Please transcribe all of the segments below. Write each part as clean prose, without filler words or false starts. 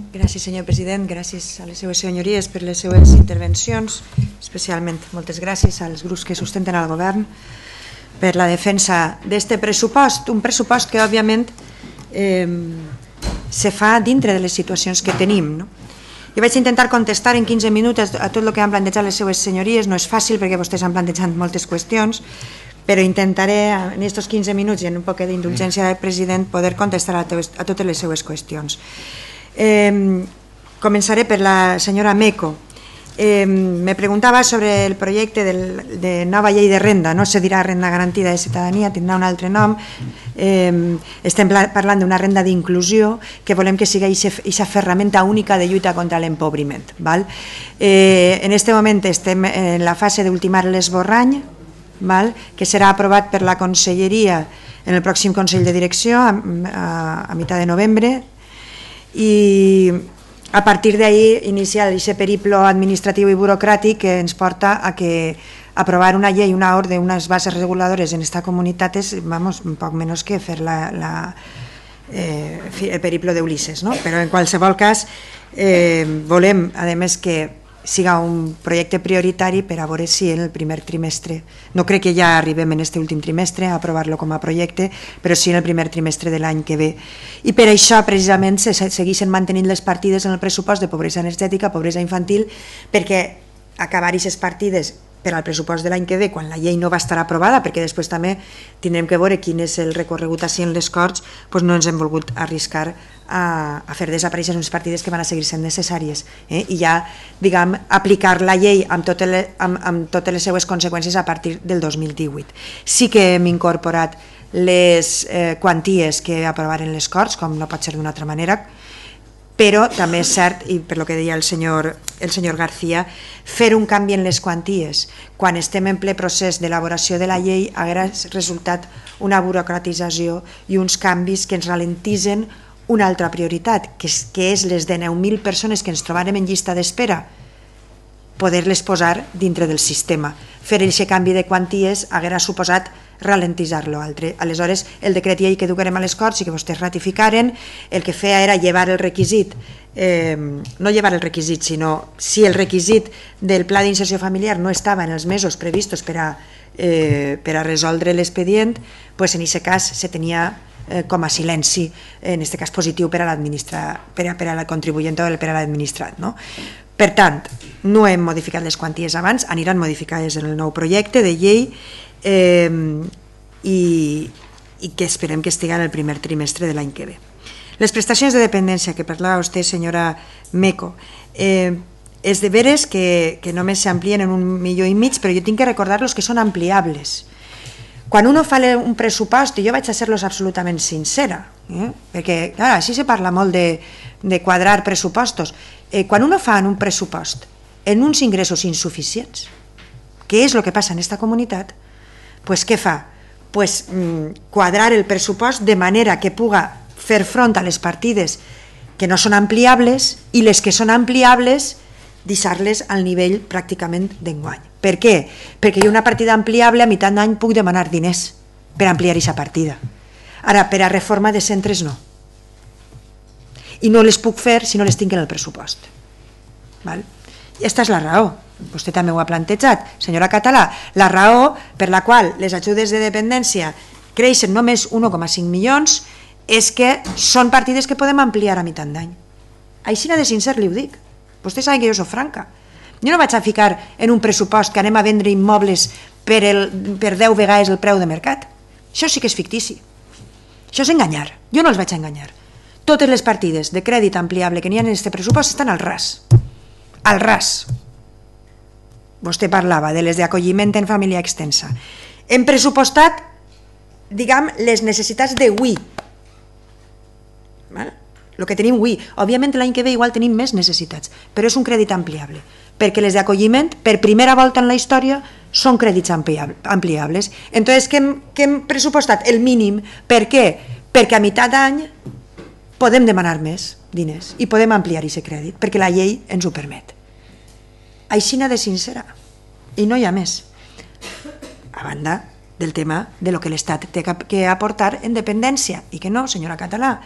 Gràcies, senyor president, gràcies a les seues senyories per les seues intervencions, especialment moltes gràcies als grups que sustenten el govern per la defensa d'aquest pressupost, un pressupost que òbviament se fa dintre de les situacions que tenim. Jo vaig intentar contestar en 15 minuts a tot el que han plantejat les seues senyories, no és fàcil perquè vostès han plantejat moltes qüestions, però intentaré en aquests 15 minuts i en un poc d'indulgència del president poder contestar a totes les seues qüestions. Començaré per la senyora Meco. Me preguntava sobre el projecte de nova llei de renda, no se dirà renda garantida de ciutadania, tindrà un altre nom. Estem parlant d'una renda d'inclusió que volem que sigui aquesta ferramenta única de lluita contra l'empobriment. En aquest moment estem en la fase d'ultimar l'esborrany, que serà aprovat per la Conselleria en el pròxim Consell de Direcció a meitat de novembre, i a partir d'ahí iniciar aquest periple administratiu i burocràtic que ens porta a que aprovar una llei, una ordre, unes bases reguladores en esta comunitat és un poc menys que fer el periple d'Ulisses. Però en qualsevol cas volem, a més, que siga un projecte prioritari per a veure si en el primer trimestre, no crec que ja arribem en aquest últim trimestre a aprovar-lo com a projecte, però sí en el primer trimestre de l'any que ve. I per això precisament se segueixen mantenint les partides en el pressupost de pobresa energètica, pobresa infantil, perquè acabar aquestes partides per al pressupost de l'any que ve, quan la llei no va estar aprovada, perquè després també tindrem que veure quin és el recorregut així en les Corts, doncs no ens hem volgut arriscar a fer desaparèixer unes partides que van a seguir sent necessàries i ja, diguem, aplicar la llei amb totes les seues conseqüències a partir del 2018. Sí que hem incorporat les quanties que aprovaren les Corts, com no pot ser d'una altra manera, però també és cert, i per el que deia el senyor García, fer un canvi en les quanties quan estem en ple procés d'elaboració de la llei haguera resultat una burocratització i uns canvis que ens ralentitzen una altra prioritat, que és les de 9.000 persones que ens trobarem en llista d'espera, poder-les posar dintre del sistema. Fer aquest canvi de quanties haguera suposat ralentitzar-lo altre. Aleshores, el decret llei que duguem a les Corts i que vostès ratificaren, el que feia era llevar el requisit, no llevar el requisit, sinó si el requisit del pla d'inserció familiar no estava en els mesos previstos per a resoldre l'expedient, en aquest cas se tenia com a silenci, en aquest cas positiu per a la contribuent o per a l'administrat. Per tant, no hem modificat les quanties abans, aniran modificades en el nou projecte de llei i que esperem que estigui en el primer trimestre de l'any que ve. Les prestacions de dependència que parlava vostè, senyora Meco, és de veres que només s'amplien en 1,5 milions, però jo tinc que recordar-los que són ampliables. Quan uno fa un pressupost, i jo vaig a ser-los absolutament sincera, perquè així se parla molt de quadrar pressupostos, quan uno fa un pressupost en uns ingressos insuficients, què és el que passa en aquesta comunitat, què fa? Quadrar el pressupost de manera que puga fer front a les partides que no són ampliables i les que són ampliables deixar-les al nivell pràcticament d'enguany. Per què? Perquè hi ha una partida ampliable, a meitat d'any puc demanar diners per ampliar aquesta partida. Ara, per a reforma de centres no. I no les puc fer si no les tinc en el pressupost. Aquesta és la raó. Vostè també ho ha plantejat, senyora Català, la raó per la qual les ajudes de dependència creixen només 1,5 milions és que són partides que podem ampliar a meitat d'any. Així de sincer li ho dic. Vostè sap que jo soc franca. Jo no vaig a ficar en un pressupost que anem a vendre immobles per 10 vegades el preu de mercat. Això sí que és fictici. Això és enganyar. Jo no els vaig enganyar. Totes les partides de crèdit ampliable que n'hi ha en aquest pressupost estan al ras. Al ras. Vostè parlava de les d'acolliment en família extensa. Hem pressupostat, diguem, les necessitats d'avui. El que tenim avui. Òbviament l'any que ve igual tenim més necessitats, però és un crèdit ampliable, perquè les d'acolliment, per primera volta en la història, són crèdits ampliables. Entonces, què hem pressupostat? El mínim. Per què? Perquè a meitat d'any podem demanar més diners i podem ampliar aquest crèdit, perquè la llei ens ho permet. Aixina de sincera. I no hi ha més. A banda del tema de lo que l'Estat té que aportar en dependència. I que no, senyora Català.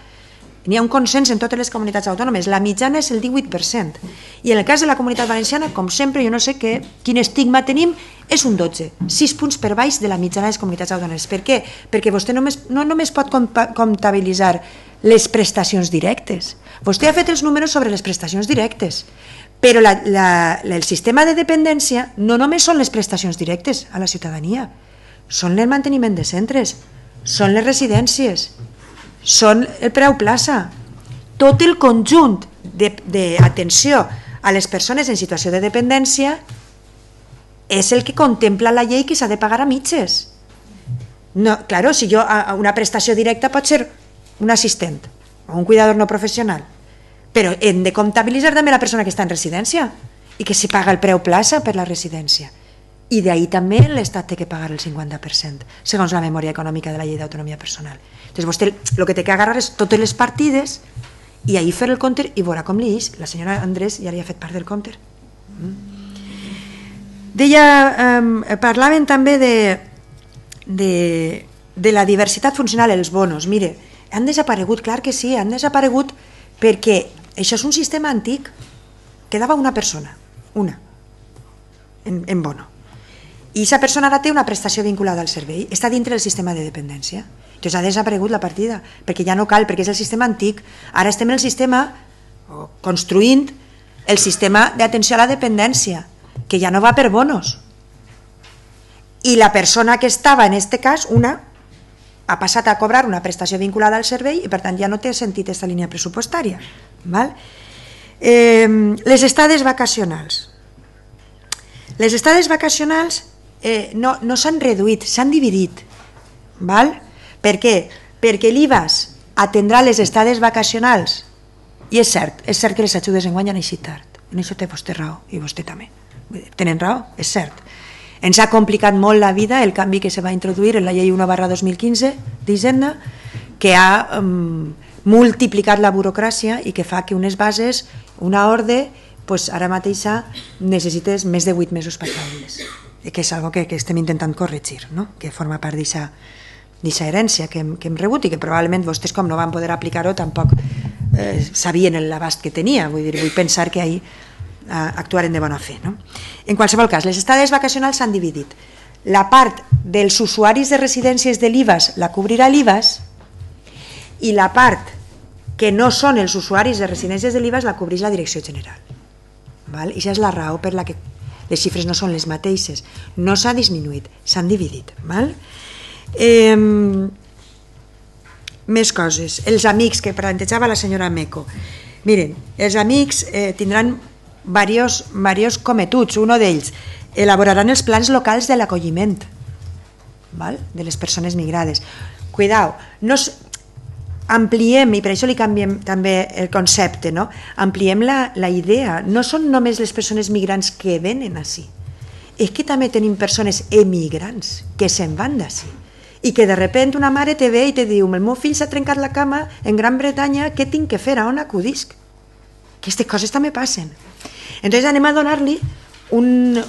n'hi ha un consens en totes les comunitats autònomes, la mitjana és el 18%, i en el cas de la Comunitat Valenciana, com sempre, jo no sé quin estigma tenim, és un 12, 6 punts per baix de la mitjana de les comunitats autònomes. Per què? Perquè vostè no només pot comptabilitzar les prestacions directes, vostè ha fet els números sobre les prestacions directes, però el sistema de dependència no només són les prestacions directes a la ciutadania, són el manteniment de centres, són les residències, són el preu plaça, tot el conjunt d'atenció a les persones en situació de dependència és el que contempla la llei que s'ha de pagar a mitges. No, claro, si jo una prestació directa pot ser un assistent o un cuidador no professional, però hem de comptabilitzar també la persona que està en residència i que s'hi paga el preu plaça per la residència. I d'ahir també l'Estat té que pagar el 50%, segons la memòria econòmica de la llei d'autonomia personal. Entonces vostè el que té que agarrar és totes les partides i ahir fer el compte i veurà com li és. La senyora Andrés ja li ha fet part del compte. Parlaven també de la diversitat funcional, els bonos. Mire, han desaparegut, clar que sí, han desaparegut perquè això és un sistema antic. Quedava una persona, una, en bono. I aquesta persona ara té una prestació vinculada al servei, està dintre del sistema de dependència. Entonces ha desaparegut la partida, perquè ja no cal, perquè és el sistema antic. Ara estem en el sistema, construint el sistema d'atenció a la dependència, que ja no va per bonos. I la persona que estava, en aquest cas, una, ha passat a cobrar una prestació vinculada al servei i per tant ja no té sentit aquesta línia pressupostària. Les estades vacacionals. Les estades vacacionals no s'han reduït, s'han dividit. Per què? Perquè l'IVAS atendrà les estades vacacionals, i és cert que les ajudes enguany han eixit tard, en això té vostè raó i vostè també tenen raó, és cert. Ens ha complicat molt la vida el canvi que se va introduir en la llei 1/2015 d'Hisenda, que ha multiplicat la burocràcia i que fa que unes bases, una ordre, ara mateix necessites més de 8 mesos per treballar-les, que és una cosa que estem intentant corregir, que forma part d'aquesta herència que hem rebut i que probablement vostès, com no van poder aplicar-ho, tampoc sabien l'abast que tenia. Vull pensar que ahir actuaren de bona fe. En qualsevol cas, les estades vacacionals s'han dividit. La part dels usuaris de residències de l'IVAS la cobrirà l'IVAS i la part que no són els usuaris de residències de l'IVAS la cobreix la Direcció General. I això és la raó per la que les xifres no són les mateixes. No s'ha disminuït, s'han dividit. Més coses. Els amics que plantejava la senyora Meco. Miren, els amics tindran diversos cometuts. Un d'ells, elaboraran els plans locals de l'acolliment de les persones migrades. Cuidao, ampliem, i per això li canviem també el concepte, ampliem la idea. No són només les persones migrants que venen ací, és que també tenim persones emigrants que se'n van d'ací i que de repente una mare te ve i te diu: el meu fill s'ha trencat la cama en Gran Bretanya, què tinc que fer, a on acudisc? Aquestes coses també passen. Entonces anem a donar-li un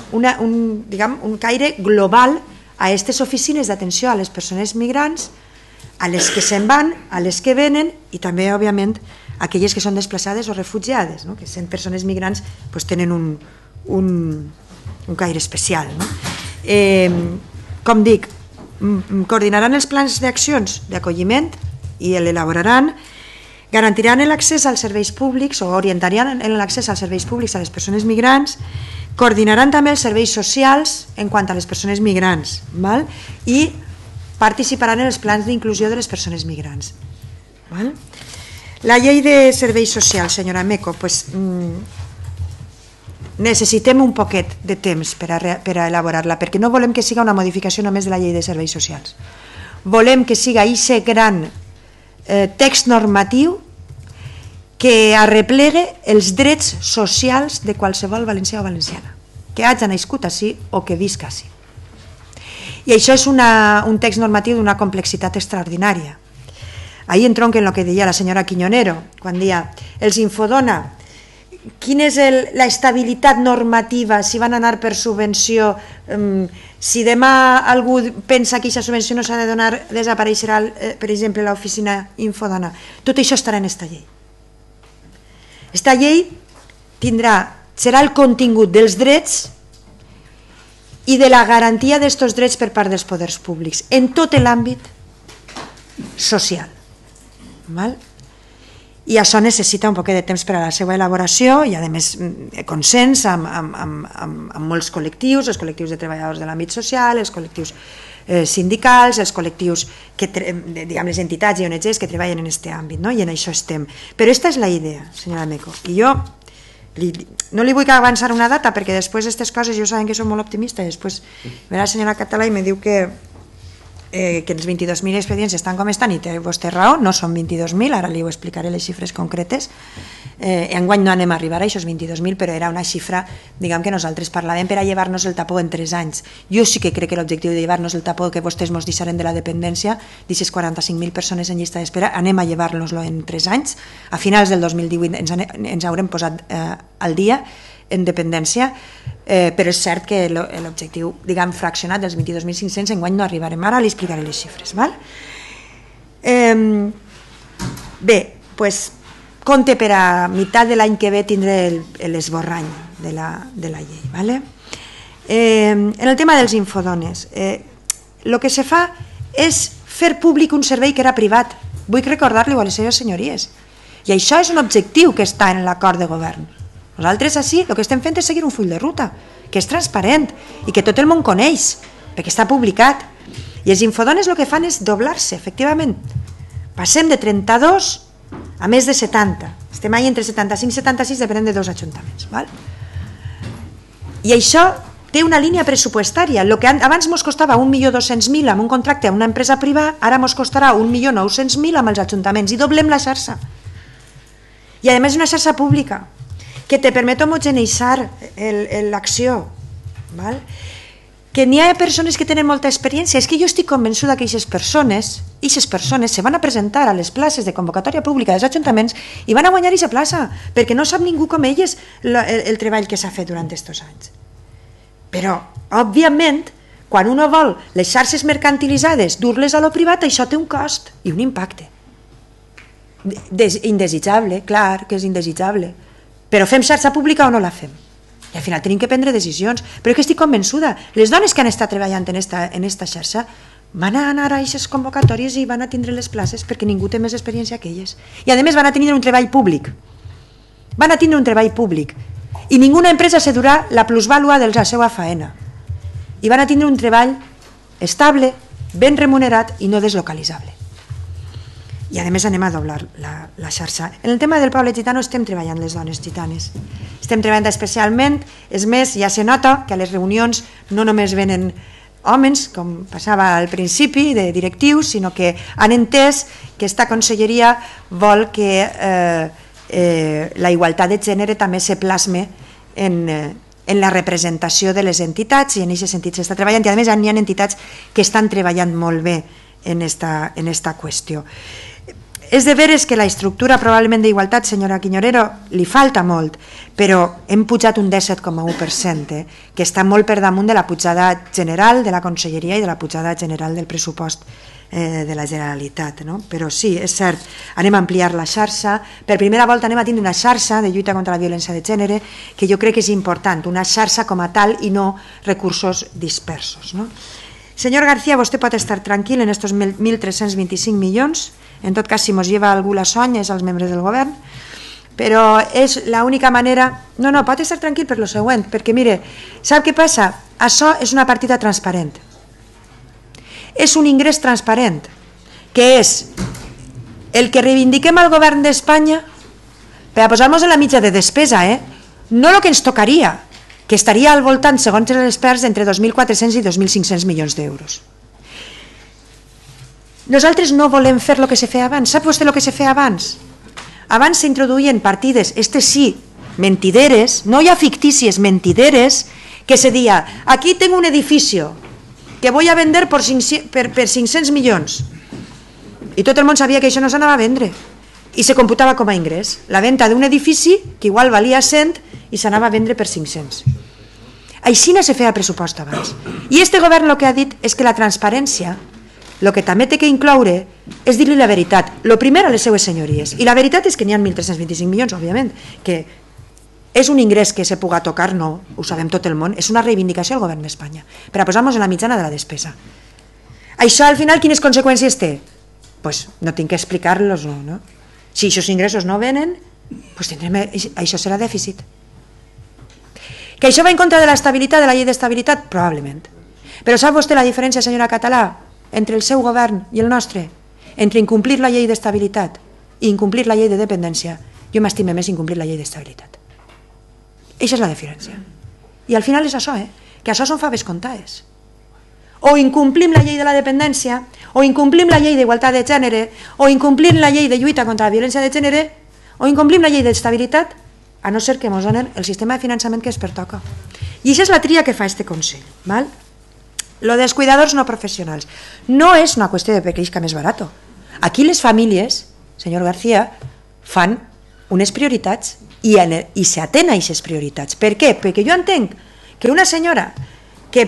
caire global a aquestes oficines d'atenció a les persones migrants, a les que se'n van, a les que venen i també, òbviament, a aquelles que són desplaçades o refugiades, que sent persones migrants tenen un caire especial. Com dic, coordinaran els plans d'accions d'acolliment i l'elaboraran, garantiran l'accés als serveis públics o orientaran l'accés als serveis públics a les persones migrants, coordinaran també els serveis socials en quant a les persones migrants i participaran en els plans d'inclusió de les persones migrants. La llei de serveis socials, senyora Meco, necessitem un poquet de temps per a elaborar-la, perquè no volem que siga una modificació només de la llei de serveis socials. Volem que siga aquest gran text normatiu que arreplegue els drets socials de qualsevol valencià o valenciana, que hagi nascut ací o que visca ací. I això és un text normatiu d'una complexitat extraordinària. Ahí entronca en el que deia la senyora Quiñonero, quan deia els Infodona quina és l'estabilitat normativa, si van anar per subvenció, si demà algú pensa que aquesta subvenció no s'ha de donar, desapareixerà, per exemple, l'oficina Infodona. Tot això estarà en esta llei. Esta llei serà el contingut dels drets i de la garantia d'aquests drets per part dels poders públics, en tot l'àmbit social. I això necessita un poc de temps per a la seva elaboració i a més consens amb molts col·lectius, els col·lectius de treballadors de l'àmbit social, els col·lectius sindicals, els col·lectius, diguem, les entitats i ONGs que treballen en aquest àmbit, i en això estem. Però aquesta és la idea, senyora Meco, i jo no li vull avançar una data perquè després d'aquestes coses jo saben que soc molt optimista i després ve la senyora Català i me diu que els 22.000 expedients estan com estan i té vostè raó, no són 22.000, ara li ho explicaré les xifres concretes. Enguany no anem a arribar a aquests 22.000, però era una xifra, diguem, que nosaltres parlàvem per a llevar-nos el tapó en 3 anys. Jo sí que crec que l'objectiu de llevar-nos el tapó que vostès ens deixaren de la dependència, d'aquestes 45.000 persones en llista d'espera, anem a llevar-nos-lo en 3 anys. A finals del 2018 ens haurem posat al dia en dependència, però és cert que l'objectiu, diguem, fraccionat dels 22.500 enguany no arribarem. Ara li explicaré les xifres. Bé, doncs compte per a meitat de l'any que ve tindré l'esborrany de la llei. En el tema dels infodones, el que se fa és fer públic un servei que era privat. Vull recordar-li a les seves senyories. I això és un objectiu que està en l'acord de govern. Nosaltres així el que estem fent és seguir un full de ruta, que és transparent i que tot el món coneix, perquè està publicat. I els infodones el que fan és doblar-se, efectivament. Passem de 32 a més de 70. Estem ahí entre 75 i 76, depenent de 2 ajuntaments. I això té una línia pressupostària. El que abans ens costava 1.200.000 amb un contracte amb una empresa privada, ara ens costarà 1.900.000 amb els ajuntaments i doblem la xarxa. I a més una xarxa pública que te permet homogeneitzar l'acció, que n'hi ha persones que tenen molta experiència. És que jo estic convençuda que aquestes persones se van a presentar a les places de convocatòria pública dels ajuntaments i van a guanyar aquesta plaça, perquè no sap ningú com elles el treball que s'ha fet durant aquests anys. Però, òbviament, quan uno vol les xarxes mercantilitzades dur-les a lo privat, això té un cost i un impacte. Indesitjable, clar que és indesitjable. Però fem xarxa pública o no la fem? I al final tenim que prendre decisions. Però és que estic convençuda, les dones que han estat treballant en esta xarxa van a anar a aquestes convocatòries i van a tindre les places perquè ningú té més experiència que elles. I a més van a tenir un treball públic. Van a tindre un treball públic. I ninguna empresa se durà la plusvàlua de la seva faena. I van a tindre un treball estable, ben remunerat i no deslocalitzable. I a més anem a doblar la xarxa. En el tema del poble gitano estem treballant les dones gitanes. Estem treballant especialment, és més, ja se nota que a les reunions no només venen homes, com passava al principi, de directius, sinó que han entès que esta conselleria vol que la igualtat de gènere també se plasme en la representació de les entitats i en aquests sentits s'està treballant i a més hi ha entitats que estan treballant molt bé en esta qüestió. És de veres que la estructura probablement d'igualtat, senyora Quiñorero, li falta molt, però hem pujat un 17,1%, que està molt per damunt de la pujada general de la Conselleria i de la pujada general del pressupost de la Generalitat. Però sí, és cert, anem a ampliar la xarxa, per primera volta anem a tindre una xarxa de lluita contra la violència de gènere, que jo crec que és important, una xarxa com a tal i no recursos dispersos. Senyor García, vostè pot estar tranquil en aquests 1.325 milions. En tot cas, si ens lleva algú la son és als membres del govern, però és l'única manera... No, pot estar tranquil per lo següent, perquè mire, sap què passa? Això és una partida transparent. És un ingrés transparent, que és el que reivindiquem al govern d'Espanya per a posar-nos en la mitja de despesa, no el que ens tocaria, que estaria al voltant, segons els experts, entre 2.400 i 2.500 milions d'euros. Nosaltres no volem fer el que se feia abans. Sap vostè el que se feia abans? Abans s'introduïen partides, sí, mentideres, no ja fictícies, mentideres, que se deia, aquí tengo un edificio que voy a vender per 500 milions. I tot el món sabia que això no s'anava a vendre. i se computava com a ingrés. La venda d'un edifici que igual valia 100 i s'anava a vendre per 500. Així no se feia pressupost abans. I este govern el que ha dit és que la transparència, el que també té que incloure és dir-li la veritat. El primer a les seues senyories. I la veritat és que n'hi ha 1.325 milions, òbviament, que és un ingrés que se puga tocar, no, ho sabem tot el món, és una reivindicació al govern d'Espanya, per a posar-nos en la mitjana de la despesa. Això al final quines conseqüències té? Doncs no tinc que explicar-los, no? Si aquests ingressos no venen, això serà dèficit. Que això va en contra de l'estabilitat, de la llei d'estabilitat? Probablement. Però sap vostè la diferència, senyora Català, entre el seu govern i el nostre? Entre incomplir la llei d'estabilitat i incomplir la llei de dependència, jo m'estime més incomplir la llei d'estabilitat. Eixa és la diferència. I al final és això, que això són faves comptades. O incomplim la llei de la dependència, o incomplim la llei d'igualtat de gènere, o incomplim la llei de lluita contra la violència de gènere, o incomplim la llei d'estabilitat, a no ser que ens donen el sistema de finançament que es pertoca. I això és la tria que fa este Consell. Lo dels cuidadors no professionals. No és una qüestió de que isca més barat. Aquí les famílies, senyor García, fan unes prioritats i s'atén a aquestes prioritats. Per què? Perquè jo entenc que una senyora que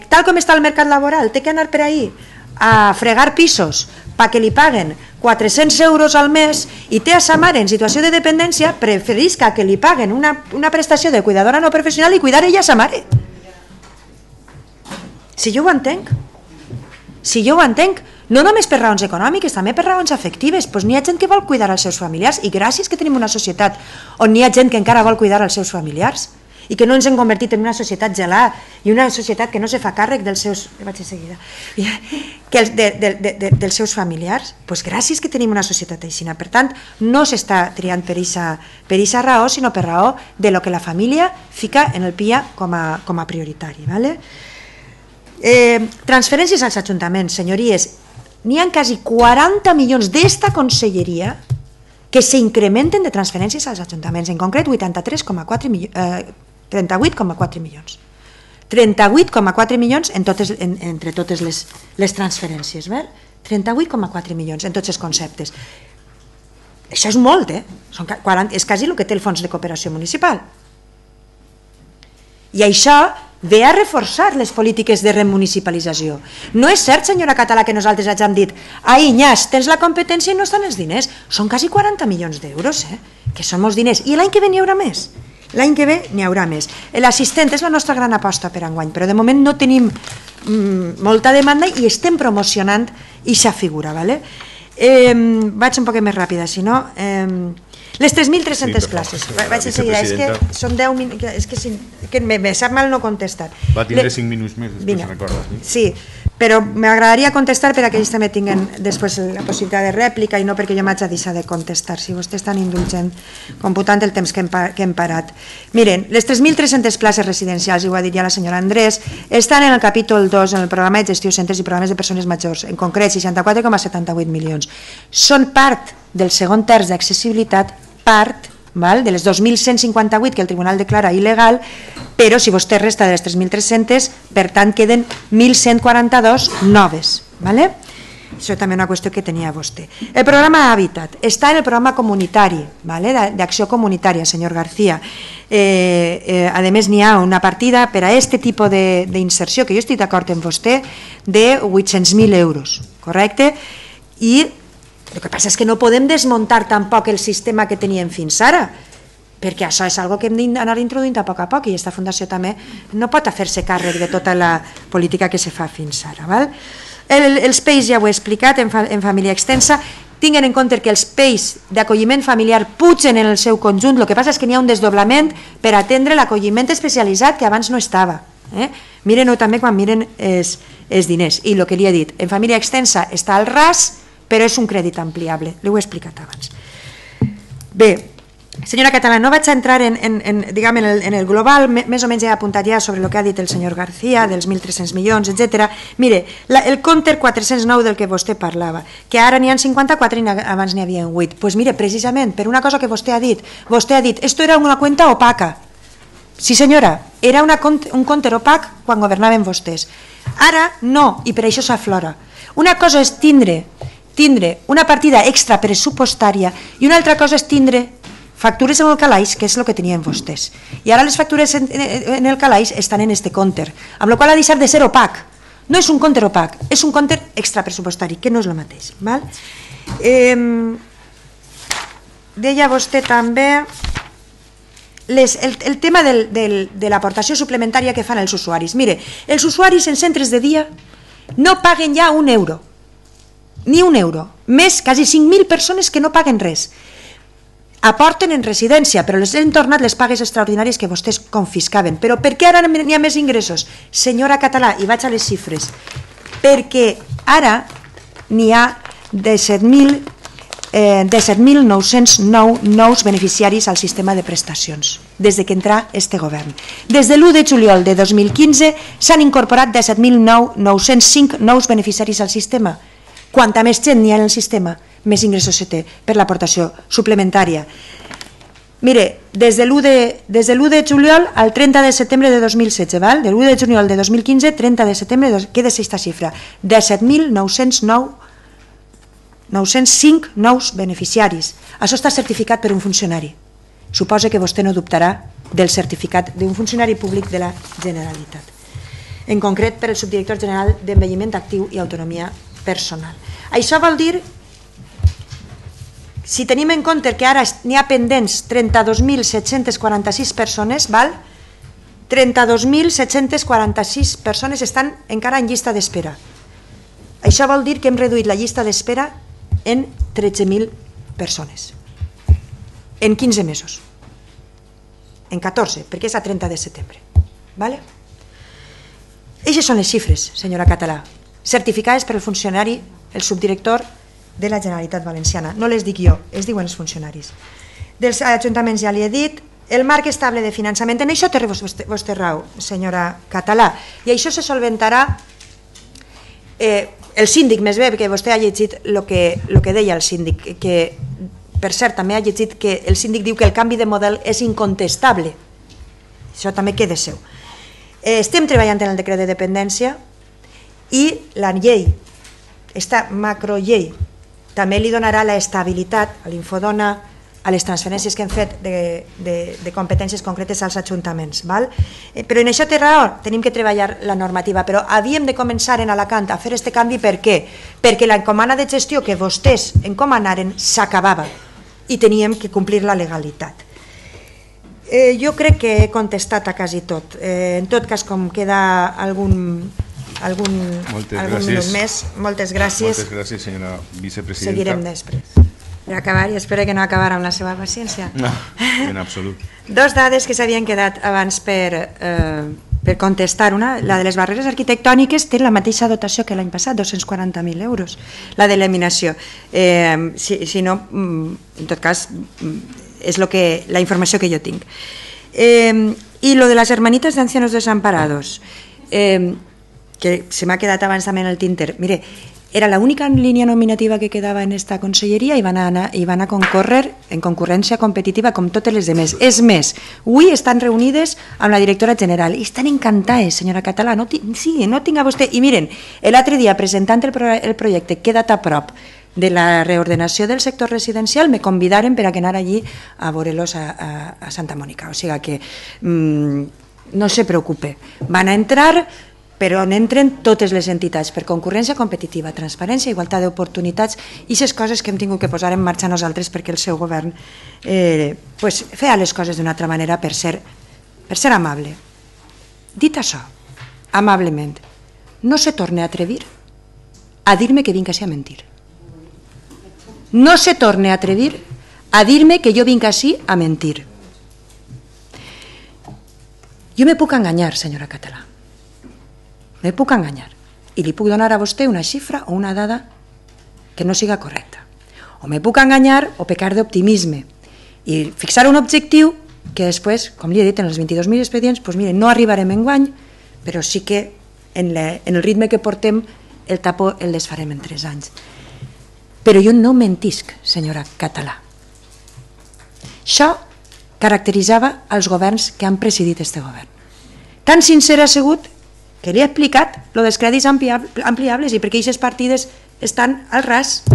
tal com està el mercat laboral té que anar per ahí a fregar pisos perquè li paguen 400 euros al mes i té a sa mare en situació de dependència, preferisca que li paguen una prestació de cuidadora no professional i cuidar ella a sa mare. Si jo ho entenc, no només per raons econòmiques, també per raons afectives, doncs n'hi ha gent que vol cuidar els seus familiars i gràcies que tenim una societat on n'hi ha gent que encara vol cuidar els seus familiars i que no ens hem convertit en una societat gelada i una societat que no se fa càrrec dels seus dels seus familiars, doncs gràcies que tenim una societat així. Per tant, no s'està triant per aquesta raó, sinó per raó de lo que la família fica en el PIA com a prioritari. Transferències als ajuntaments, senyories, n'hi ha quasi 40 milions d'esta conselleria que s'incrementen de transferències als ajuntaments, en concret 38,4 milions. 38,4 milions entre totes les transferències. 38,4 milions en tots els conceptes. Això és molt, és quasi el que té el Fons de Cooperació Municipal. I això ve a reforçar les polítiques de remunicipalització. No és cert, senyora Català, que nosaltres hàgim dit ai, nyas, tens la competència i no estan els diners. Són quasi 40 milions d'euros, que són molts diners. I l'any que ve n'hi haurà més. L'any que ve n'hi haurà més. L'assistent és la nostra gran aposta per enguany, però de moment no tenim molta demanda i estem promocionant aquesta figura. Vaig un poc més ràpida, si no... Les 3.300 places, vaig de seguida, és que són 10 minuts, és que me sap mal no contestar. Va tindre 5 minuts més, després recordes. Sí, però m'agradaria contestar per a que ells també tinguin després la possibilitat de rèplica i no perquè jo m'haig de deixar de contestar, si vostè és tan indulgent computant el temps que hem parat. Miren, les 3.300 places residencials, i ho ha dit ja la senyora Andrés, estan en el capítol 2, en el programa de gestió centres i programes de persones majors, en concret 64,78 milions. Són part del segon terç d'accessibilitat, part de les 2.158 que el tribunal declara il·legal, però si vostè resta de les 3.300, per tant queden 1.142 noves. Això també és una qüestió que tenia vostè. El programa Hàbitat està en el programa comunitari, d'acció comunitària, senyor García. A més, n'hi ha una partida per a aquest tipus d'inserció, que jo estic d'acord amb vostè, de 800.000 euros, correcte? I el que passa és que no podem desmuntar tampoc el sistema que teníem fins ara, perquè això és una cosa que hem d'anar introduint a poc i aquesta fundació també no pot fer-se càrrec de tota la política que se fa fins ara. Els PEIs ja ho he explicat en família extensa, tinguin en compte que els PEIs d'acolliment familiar pugen en el seu conjunt, el que passa és que n'hi ha un desdoblament per atendre l'acolliment especialitzat que abans no estava. Miren-ho també quan miren els diners. I el que li he dit, en família extensa està al ras, però és un crèdit ampliable, l'ho he explicat abans. Bé, senyora Català, no vaig a entrar en el global, més o menys he apuntat ja sobre el que ha dit el senyor García, dels 1.300 milions, etc. Mire, el compte 409 del que vostè parlava, que ara n'hi ha 54 i abans n'hi havia 8. Doncs mire, precisament, per una cosa que vostè ha dit, esto era una cuenta opaca. Sí senyora, era un compte opac quan governaven vostès. Ara no, i per això s'aflora. Una cosa és tindre tindre una partida extra pressupostària i una altra cosa és tindre factures en el calaix, que és el que tenien vostès. I ara les factures en el calaix estan en este compte, amb la qual ha deixat de ser opac. No és un compte opac, és un compte extra pressupostari, que no és el mateix. Deia vostè també el tema de l'aportació suplementària que fan els usuaris. Mire, els usuaris en centres de dia no paguen ja un euro, ni un euro, més quasi 5.000 persones que no paguen res. Aporten en residència, però les han tornat les pagues extraordinàries que vostès confiscaven. Però per què ara n'hi ha més ingressos? Senyora Català, i vaig a les xifres, perquè ara n'hi ha 17.909 nous beneficiaris al sistema de prestacions, des que entrà este govern. Des de l'1 de juliol de 2015 s'han incorporat 17.905 nous beneficiaris al sistema. Quanta més gent n'hi ha en el sistema, més ingressos se té per l'aportació suplementària. Mire, des de l'1 de juliol al 30 de setembre de 2016, de l'1 de juliol de 2015, 30 de setembre, queda aquesta xifra, 17.905 nous beneficiaris. Això està certificat per un funcionari. Suposa que vostè no dubtarà del certificat d'un funcionari públic de la Generalitat. En concret, per el subdirector general d'Envelliment Actiu i Autonomia Personal. Això vol dir, si tenim en compte que ara n'hi ha pendents 32.746 persones, 32.746 persones estan encara en llista d'espera. Això vol dir que hem reduït la llista d'espera en 13.000 persones, en 15 mesos, en 14, perquè és a 30 de setembre. Eixes són les xifres, senyora Català, certificades per el funcionari, el subdirector de la Generalitat Valenciana. No les dic jo, es diuen els funcionaris. Dels ajuntaments ja li he dit, el marc estable de finançament, en això té vostè raó, senyora Català, i això se solventarà. El síndic, més bé, perquè vostè ha llegit el que deia el síndic, que, per cert, també ha llegit que el síndic diu que el canvi de model és incontestable. Això també queda seu. Estem treballant en el decret de dependència i la llei, aquesta macrollei, també li donarà l'estabilitat a l'Infodona, a les transferències que hem fet de competències concretes als ajuntaments. Però en això té raó, tenim que treballar la normativa, però havíem de començar en Alacant a fer aquest canvi. Per què? Perquè l'encomana de gestió que vostès encomanaren s'acabava i teníem que complir la legalitat. Jo crec que he contestat a quasi tot. En tot cas, com queda algun minut més, moltes gràcies. Moltes gràcies, senyora vicepresidenta. Seguirem després. Per acabar, i espero que no acabar amb la seva paciència. No, en absolut. Dos dades que s'havien quedat abans per contestar. Una, la de les barreres arquitectòniques té la mateixa dotació que l'any passat, 240.000 euros, la d'eliminació. Si no, en tot cas, és la informació que jo tinc. I lo de les hermanitas de ancianos desamparados, que se m'ha quedat abans també en el tinter. Mire, era l'única línia nominativa que quedava en esta conselleria i van a concórrer en concurrència competitiva com totes les demés. És més, avui estan reunides amb la directora general i estan encantades, senyora Català. Sí, no tinga vostè... I miren, l'altre dia, presentant el projecte Queda't a prop de la reordenació del sector residencial, me convidaren per a anar allí a veure-los a Santa Mònica. O sigui que no se preocupe. Van a entrar, però on entren totes les entitats per concurrència competitiva, transparència, igualtat d'oportunitats i aquestes coses que hem tingut que posar en marxa nosaltres perquè el seu govern feia les coses d'una altra manera per ser amable. Dit això, amablement, no se torne a atrevir a dir-me que vinc així a mentir. No se torne a atrevir a dir-me que jo vinc així a mentir. Jo me puc enganyar, senyora Català. Me puc enganyar i li puc donar a vostè una xifra o una dada que no siga correcta. O me puc enganyar o pecar d'optimisme i fixar un objectiu que després, com li he dit, en els 22.000 expedients, no arribarem enguany, però sí que en el ritme que portem el tapó el desfarem en 3 anys. Però jo no mentisc, senyora Català. Això caracteritzava els governs que han presidit este govern. Tan sincer ha sigut que li he explicat lo dels crèdits ampliables i perquè aquestes partides estan al ras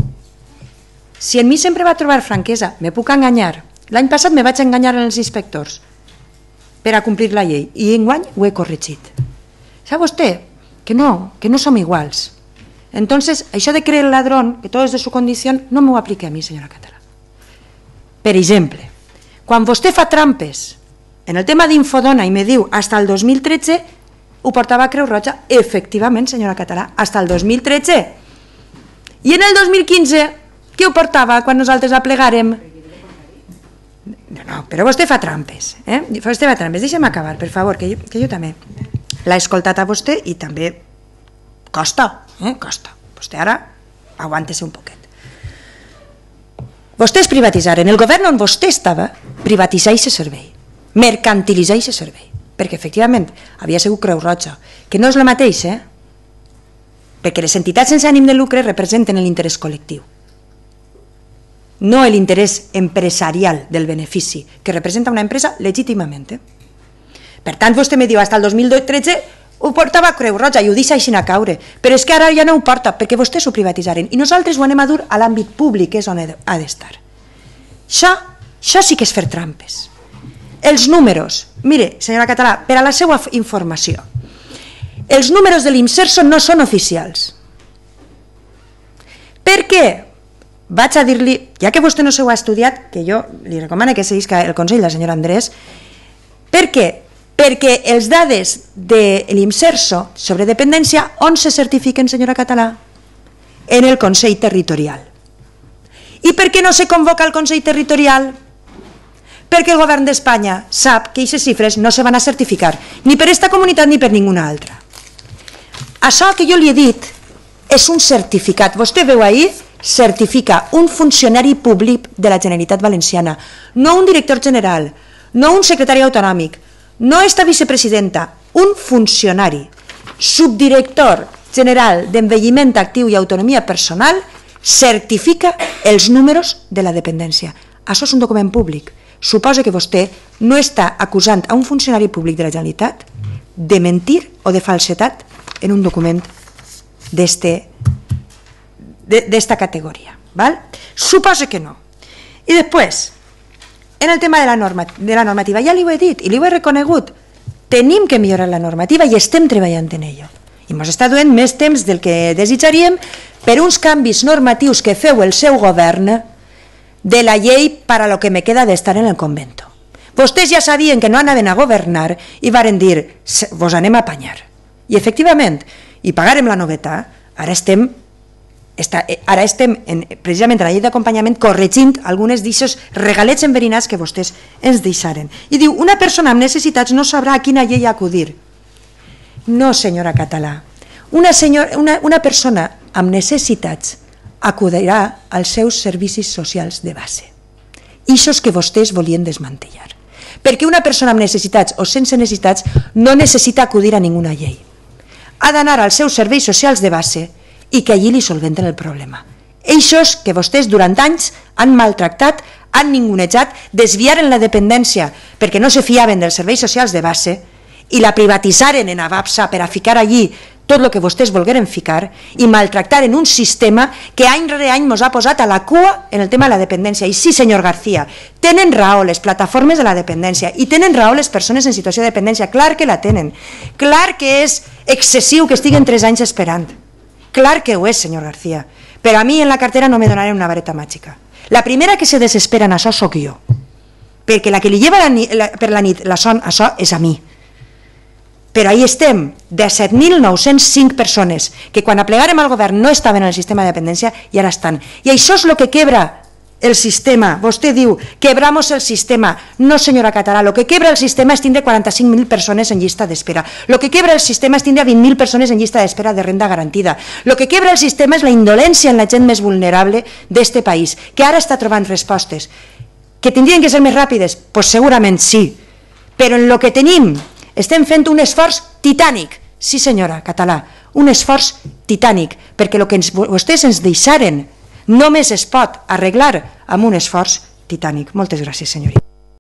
Si en mi sempre va trobar franquesa, me puc enganyar. L'any passat me vaig enganyar en els inspectors per a complir la llei i enguany ho he corregit. Sap vostè que no som iguals. Entonces, això de creer el ladrón, que todo es de su condición, no m'ho aplique a mi, senyora Català. Per exemple, quan vostè fa trampes en el tema d'Infodona i me diu hasta el 2013, ho portava a Creu Roja, efectivament, senyora Català, hasta el 2013. I en el 2015, què ho portava quan nosaltres aplegàrem? No, però vostè fa trampes. Vostè fa trampes. Deixa'm acabar, per favor, que jo també l'he escoltat a vostè i també costa, costa. Vostè ara aguante-se un poquet. Vostès privatitzaren, el govern on vostè estava, privatitzar aquest servei, mercantilitzar aquest servei, perquè efectivament havia sigut Creu Roja, que no és el mateix, perquè les entitats sense ànim de lucre representen l'interès col·lectiu, no l'interès empresarial del benefici, que representa una empresa legítimament. Per tant, vostè me diu, fins al 2013 ho portava a Creu Roja i ho deixa així a caure, però és que ara ja no ho porta, perquè vostès ho privatitzaren, i nosaltres ho anem a dur a l'àmbit públic, que és on ha d'estar. Això sí que és fer trampes. Els números, mire, senyora Català, per a la seva informació, els números de l'Imserso no són oficials. Per què? Vaig a dir-li, ja que vostè no s'ho ha estudiat, que jo li recomano que seguisca el consell del senyor Andrés, per què? Perquè els dades de l'Imserso sobre dependència, on se certifiquen, senyora Català? En el Consell Territorial. I per què no se convoca el Consell Territorial? Perquè el govern d'Espanya sap que aquestes xifres no se van a certificar, ni per aquesta comunitat ni per ninguna altra. Això que jo li he dit és un certificat. Vostè veu ahir, certifica un funcionari públic de la Generalitat Valenciana, no un director general, no un secretari autonòmic, no esta vicepresidenta, un funcionari, subdirector general d'envelliment actiu i autonomia personal, certifica els números de la dependència. Això és un document públic. Suposa que vostè no està acusant a un funcionari públic de la Generalitat de mentir o de falsedat en un document d'esta categoria. Suposa que no. I després, en el tema de la normativa, ja li ho he dit i li ho he reconegut, tenim que millorar la normativa i estem treballant en ello. I ens està duent més temps del que desitjaríem per uns canvis normatius que feu el seu govern de la llei para lo que me queda d'estar en el convento. Vostès ja sabien que no anaven a governar i varen dir, vos anem a apanyar. I efectivament, i pagarem la noveta, ara estem precisament a la llei d'acompanyament corregint algunes d'aquests regalets enverinats que vostès ens deixaren. I diu, una persona amb necessitats no sabrà a quina llei acudir. No, senyora Català. Una persona amb necessitats acudirà als seus servicis socials de base. Ixos que vostès volien desmantellar. Perquè una persona amb necessitats o sense necessitats no necessita acudir a ninguna llei. Ha d'anar als seus serveis socials de base i que allí li solventen el problema. Eixos que vostès durant anys han maltractat, han ningunejat, desviaren la dependència perquè no se fiaven dels serveis socials de base i la privatitzaren en Avapsa per a ficar allí tot el que vostès volgueren ficar i maltractaren un sistema que any rere any ens ha posat a la cua en el tema de la dependència. I sí, senyor García, tenen raó les plataformes de la dependència i tenen raó les persones en situació de dependència. Clar que la tenen. Clar que és excessiu que estiguen 3 anys esperant. Clar que ho és, senyor García. Però a mi en la cartera no me donaré una vareta màgica. La primera que se desespera en això sóc jo. Perquè la que li lleva per la nit la son, això és a mi. Però ahí estem, de 7.905 persones que quan aplegàrem al govern no estaven en el sistema de dependència i ara estan. I això és el que quebra el sistema. Vostè diu, quebramos el sistema. No, senyora Català, el que quebra el sistema és tindre 45.000 persones en llista d'espera. El que quebra el sistema és tindre 20.000 persones en llista d'espera de renda garantida. El que quebra el sistema és la indolència en la gent més vulnerable d'este país, que ara està trobant respostes. Que tindrien que ser més ràpides? Pues segurament sí. Però en el que tenim estem fent un esforç titànic. Sí, senyora Català, un esforç titànic, perquè el que vostès ens deixaren només es pot arreglar amb un esforç titànic. Moltes gràcies, senyorita.